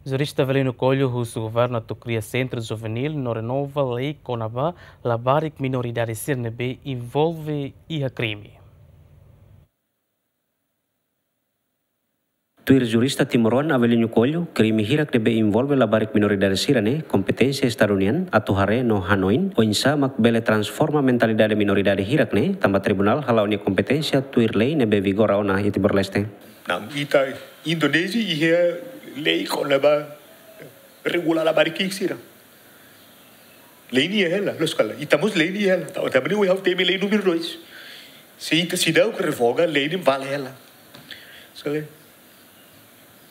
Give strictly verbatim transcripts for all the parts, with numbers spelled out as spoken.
Jurista Avelino Coelho husu governu atu kria sentru juvenil no renova lei kona-ba labarik minoridade sira ne'ebé envolve iha krime. Tuir jurista timoroan Avelino Coelho, krime hirak ne'ebé envolve labarik minoridade sira ne'e kompeténsia Estadu nian atu haree no hanoin oinsá mak bele transforma mentalidade minoridade hirak ne'e, tanba tribunál hala'o nia kompeténsia tuir lei ne'ebé vigora ona iha Timor-Leste. Não, ita Indonézia iha lei kona-ba regula labarik sira. Lei ne'e iha hela, loos ka lae. Ita mós lei ne'e iha hela. Tanba, tanba ne'e, we have temi lei númeru dois. Se ita seidauk revoga, lei ne'e vale hela. Loos ka lae.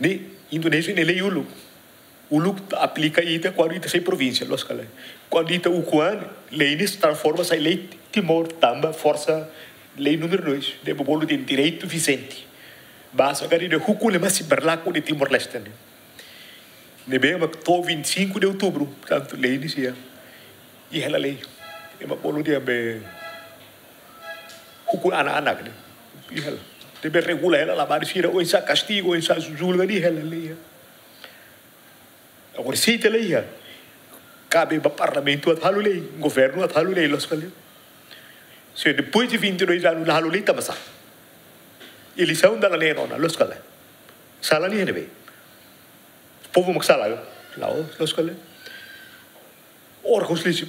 Ne'e Indonézia nia lei uluk. Uluk ita aplika ita kuandu ita sai provínsia, loos ka lae. Kuandu ita ukun an, lei ne'e transforma sai lei Timor tanba forsa lei númeru dois. Ne'ebé bolu dehan direitu vijente. Basa karik dehan ukun ne'ebé sei berlaku iha Timor-Leste ne'e. Ne'ebé mak to'o vinte e cinco de outubro, portantu, lei ne'e sei iha hela lei. Ema bolu dehan be ukun anak-anak ne'e. Iha hela. Ne'ebé regula hela labarik sira, oinsá kastigu, oinsá julga, iha hela lei. Agora, se ita la iha, kabe ba parlamentu atu halo lei, governu atu halo lei, loos ka lae. Se depois de vinte e dois anos la halo lei, tanba sá? Eleisaun dala neen ona, loos ka lae. Sala nian ne'ebé? Povu mak sala, la'ós, loos ka lae. Órgaun sira,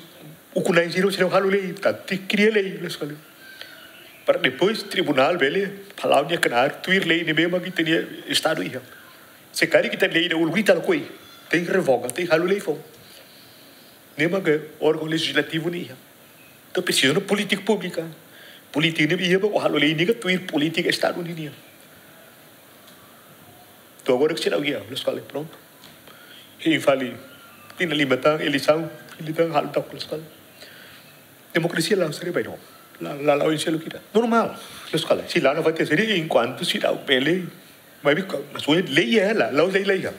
ukun-na'in sira, sira halo lei, ita tenke kria lei, loos ka lae. Para depois tribunál bele hala'o nia knaar tuir lei ne'ebé mak ita-nia Estadu iha. Se karik ita lei ida uluk ita lakohi, tenke revoga, tenke halo lei foun. Ne'e mak órgaun lejizlativu ne'e iha. Entaun presiza ona polítika públika. Polítika ne'e iha ba halo lei ne'e ka tuir polítika Estadu nian. Entaun agora ke seidauk iha, loos ka lae, prontu. Hein fali, tinan lima tan, eleisaun, eleisaun, halo tan, loos ka lae. Demokrasia la seri bai no. La, la, la, oin selu kita. Normál, loos ka lae. Se la na fati seri, enkuantu seidauk bele, maibé ka, mas oin lei iha hela, la'ós lei la iha.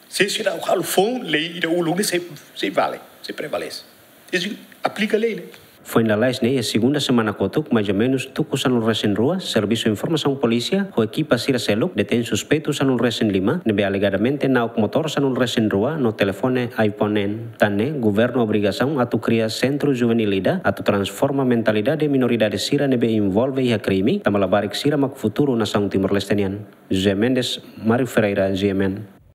Se seidauk halo foun, lei ida uluk ne'e sei, sei vale, sei prevalese. Sei aplika lei ne'e. Foin lalais ne'e, iha segunda semana kotuk, mais ou menus tuku sanulu-resin-rua, Servisu Informasaun Polísia ho ekipa sira seluk detein suspeitu sanulu-resin-lima, ne'ebé alegadamente na'ok motór sanulu-resin-rua no telefone iPhone neen. Tan ne'e, governu obrigasaun atu kria sentru juvenil ida atu transforma mentalidade minoridade sira ne'ebé envolve iha krime, tanba labarik sira mak futuru nasaun Timor-Leste nian. José Mendes, Mário Ferreira, G M N.